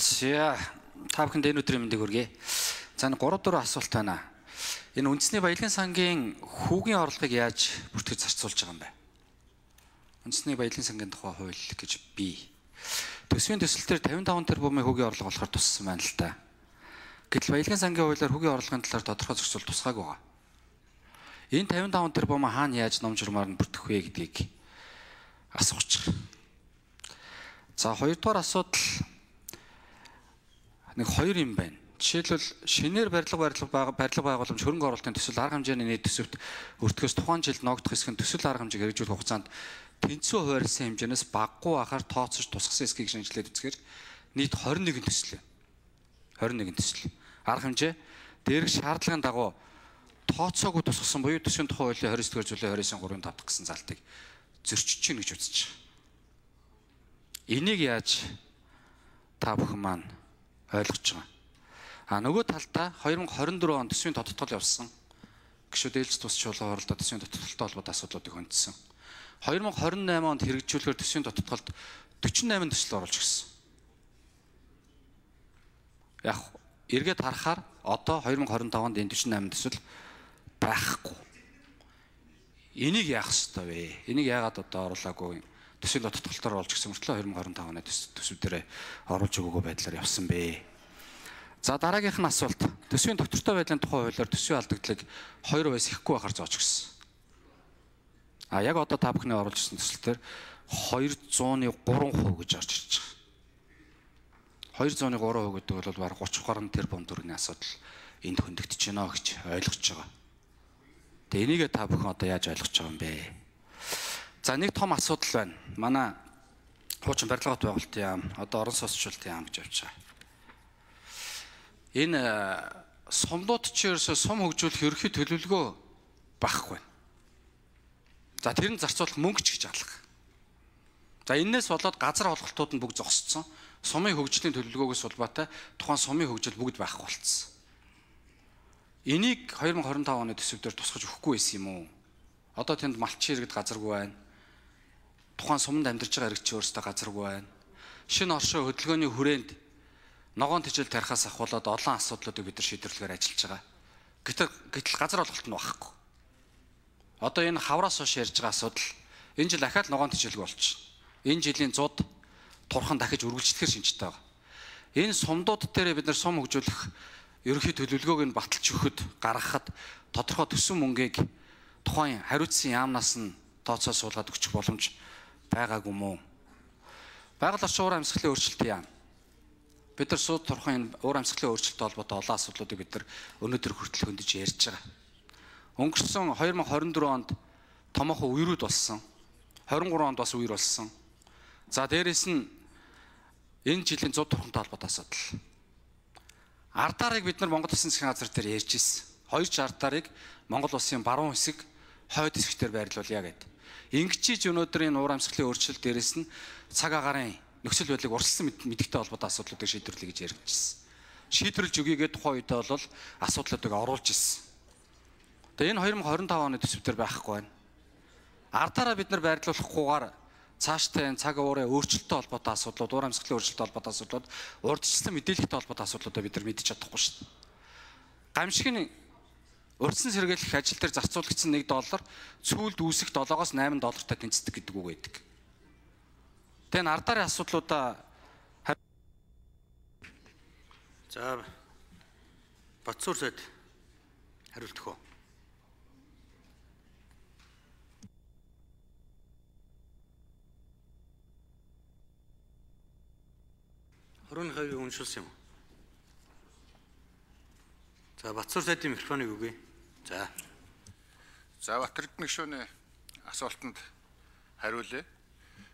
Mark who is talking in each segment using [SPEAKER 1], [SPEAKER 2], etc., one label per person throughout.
[SPEAKER 1] За та бүхэнд энэ өдрийн мэндийг хүргэе. За 3-4 асуулт байна. Энэ үндэсний баялагын сангийн хүүгийн орлогыг яаж бүртгэж зарцуулж байгаа юм бэ? Үндэсний баялагын сангийн тухай хууль гэж бий. Төсвийн төсөлтөөр 55 тэрбумын хүүгийн орлого болохоор туссан байна л да. Гэтэл баялагын сангийн хуулиар хүүгийн орлогын талаар тодорхой зохицуул тусгаагүй байгаа. Энэ 55 тэрбум хаана яаж ном журмаар нь бүртгэх вэ гэдгийг асууж байгаа. За хоёрдугаар асуудал нэг хоёр юм байна. Жишээлбэл шинээр барилга байгууламж хөрөнгө оруулалтын төсөл арга хэмжээний нийт төсөвт өртгөөс тухайн жилд ногдох хэсэг нь төсөл арга хэмжээг хэрэгжүүлэх хугацаанд тэнцүү хуваарьсан хэмжээнээс баггүй ахаар тооцож тусгасан эсхийг шинжилээд үзэхээр нийт 21 төсөл. 21 төсөл. Арга хэмжээ дээрх шаардлагын дагуу тооцоогүй тусгасан буюу төсвийн тухай хуулийн 29-р зүйлийн 29-3-ын 5 дахь гэсэн залтыг зөрчиж чинь гэж үзэж байгаа. Энийг яаж та бүхэн маань ойлгож байгаа. Нөгөө талдаа 2024 онд төсвийн тодтгол явсан. Гишүүд ээлж тусч чуулган оролдоод төсвийн тодтголтой холбоотой асуудлуудыг хөндсөн. 2028 онд хэрэгжүүлэхээр төсвийн тодтголд 48 төсөл оруулж гисэн. Яг эргээд харахаар одоо 2025 онд энэ 48 төсөл байхгүй. Энийг яах ёстой вэ? Энийг яагаад одоо оруулаагүй? Төсвийн тодтголтоор оруулж гисэн мөртлөө 2025 оны төсөв дээрээ оруулж өгөөгүй байдлаар явсан бэ. За дараагийнх нь асуулт. Төсвийн доктортой байдлын тухай хуулиар төсвийн алдагдлыг 2 байс ихэхгүй байхаар зоож гисэн. Яг одоо та бүхний оруулж ирсэн төсөлтөөр 203% гэж орж ирж байгаа. 203% гэдэг бол бараг 30 гаруй тэрбум төгрөгийн асуудал энд хөндөгдөж байна гэж ойлгож байгаа. Тэгээ энийгээ та бүхэн одоо яаж ойлгож байгаа юм бэ? За нэг том асуудал байна. Манай хуучин барилга байгуулалтын яам, одоо орон сууцчлалтын яам гэж явж байгаа. Энэ сумдууд ч ерөөсөө сум хөгжүүлэх ерөнхий төлөвлөгөө багхгүй. За тэр нь зарцуулах мөнгө ч гэж алга. За энээс болоод газар олголтууд нь бүгд зогсцсон. Сумын хөгжлийн төлөвлөгөөгөөс улбаатай тухайн сумын хөгжил бүгд байхгүй болцсон. Энийг 2025 оны төсөвдөр тусгаж өгөхгүй байсан юм уу? Одоо тэнд малчин иргэд газаргүй байна. Тухайн суманд амьдарч байгаа иргэдчийн өөрсдөө газаргүй байна. Шинэ оршоо хөдөлгөөний хүрээнд ногоон тижэл тарихаас ахуулаад олон асуудлуудыг бид нар шийдвэрлэхээр ажиллаж байгаа. Гэтэл газар олголт нь багхгүй. Одоо энэ хавраас хойш ярьж байгаа асуудал энэ жил ахаад ногоон тижэлгүй болчих. Энэ жилийн 100 турхан дахиж үргэлжлэхээр шинжтэй байгаа. Энэ сумдууд дээр бид нар сум хөгжүүлэх ерөнхий төлөвлөгөөг нь баталж өгөхөд гаргахад тодорхой төсвийн мөнгийг тухайн хариуцсан яамнаас нь тооцоо суулгаад өгчих боломж байгаагүй мүү? Байгаль орчин уур амьсгалын өөрчлөлтийн яам. Бид нар сууд турхан уур амьсгалын өөрчлөлттэй холбоотой олон асуудлуудыг бид нар өнөөдөр хүртэл хөндөж ярьж байгаа. Өнгөрсөн 2024 онд томоохон үерүүд болсон. 23 онд бас үер болсон. За дээрэс нь энэ жилийн 100 турхантай холбоотой асуудал. Ардаарыг бид нар Монгол Улсын засгийн газар дээр ярьж ирсэн. 2 ардаарыг Монгол Улсын баруун хэсэг, хойд хэсгээр байрлуулъя гэдэг. Ингэчиж өнөөдөр энэ уур амьсгалын өөрчлөлт дээрээс нь цаг агаарын нөхцөл байдлыг урьдчилсан мэдэгтэй холбоотой асуудлуудыг шийдвэрлэе гэж ярьж ирсэн. Шийдвэрлэж өгье тухайн үедээ бол асуудлуудыг оруулж ирсэн. Тэгээ энэ 2025 оны төсөв дээр байхгүй байна. Ардаараа бид нар байрлуулахгүйгээр цаашдаа цаг уурын өөрчлөлттэй холбоотой асуудлууд, уур амьсгалын өөрчлөлттэй холбоотой асуудлууд, урьдчилсан мэдээлэлтэй холбоотой асуудлуудаа бид нар мэдэж чадахгүй шүү дээ. Гамшигын урьдчилан сэргийлэх ажил дээр зарцуулагдсан $1 сүүлд үүсэх $7-8 тэнцдэг гэдэг үг байдаг. Тэгээ энэ ардаарын асуудлуудаа
[SPEAKER 2] за Батсуур сайд хариултах уу? Хорон хавийг уншуулсан юм уу? За Батсуур сайдын микрофоныг өгье.
[SPEAKER 3] За Батэрдэн гишүүний асуултанд хариулъя.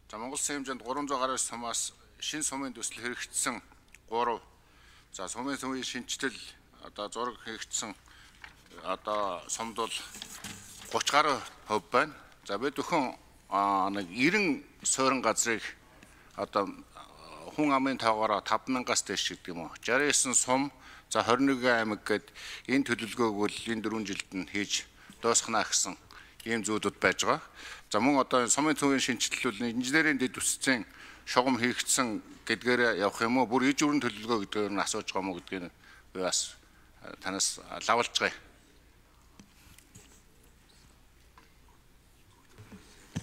[SPEAKER 3] За Монгол Улсын хэмжээнд 300 гаруй сумаас шинэ сумын төсөл хэрэгжсэн 3. За сумын шинжилэл одоо зураг хийгдсэн одоо сумд бол 30 гаруй хувь байна. За бид өхөн нэг 90 суурин газрыг одоо хүн амын тоогоороо 5,000-аас дээш гэдэг юм уу. 69 сум, за 21 аймаг гээд энэ төлөвлөгөөг бол энэ 4 жилд нь хийж дуусгана гэсэн ийм зүйлүүд байж байгаа. За мөн одоо сумын төвийн шинжилэл бол инженерийн дэд үсцэн шугам хийгдсэн гэдгээр явах юм уу? Бүр иж өрн төлөвлөгөө гэдгээр нь асууж байгаа мó гэдгийг би бас танаас лавлж байгаа.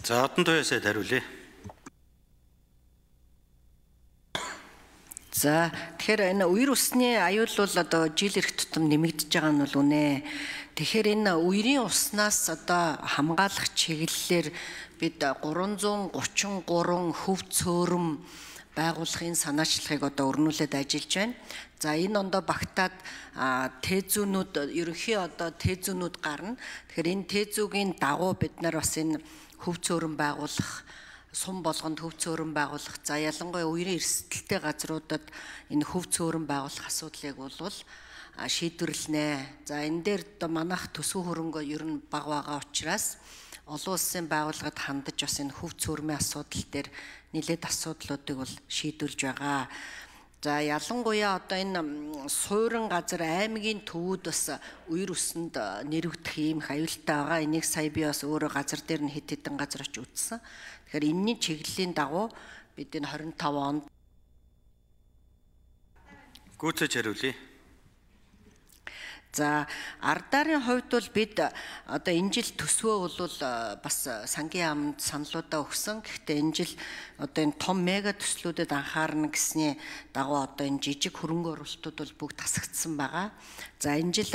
[SPEAKER 2] За одон туяасад хариулъя.
[SPEAKER 4] За тэгэхээр энэ үер усны аюул бол одоо жил ирэх тутам нэмэгдэж байгаа нь бол үнэ. Тэгэхээр энэ үерийн уснаас одоо хамгаалах чиглэлээр бид 333 хөв цөөрөм байгуулахын санаачлагыг одоо өрнүүлээд ажиллаж байна. За энэ ондоо багтаад тээзүүнүүд ерөнхий одоо тээзүүнүүд гарна. Тэгэхээр энэ тээзүүгийн дагуу бид нар бас энэ хөв цөөрөм байгуулах, сум болгонд хөв цөөрөм байгуулах, за ялангуяа үерийн эрсдэлтэй газруудад энэ хөв цөөрөм байгуулах асуудлыг бол шийдвэрлэнэ. За энэ дээр одоо манайх төсөв хөрөнгө ер нь бага байгаа учраас олон улсын байгууллагад хандаж бас энэ хөв цөөрмийн асуудал дээр нэлээд асуудлуудыг бол шийдвэрлж байгаа. За ялангуяа одоо энэ суурин газар аймгийн төвүүд бас үер усанд нэрвэгдэх ийм их аюултай байгаа. Энийг сая би бас өөрөө газар дээр нь хэд хэдэн газар очиж үзсэн. Тэгэхээр энэний чиглэлийн дагуу бид энэ 25 онд
[SPEAKER 2] Гүйцэж хариулъя.
[SPEAKER 4] за ардаарын хувьд бол бид одоо энэ жил төсвөө бол бас сангийн яамд саналуудаа өгсөн. Гэхдээ энэ жил одоо энэ том мега төслүүдэд анхаарна гэсний дагуу одоо энэ жижиг хөрөнгө оруулалтууд бол бүгд тасагдсан байгаа. За энэ жил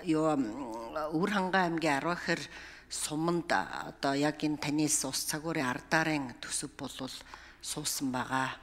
[SPEAKER 4] Өвөр хангай аймгийн Арвахэр суманд одоо яг энэ танис ус цагуурын ардаарын төсөв бол суусан байгаа.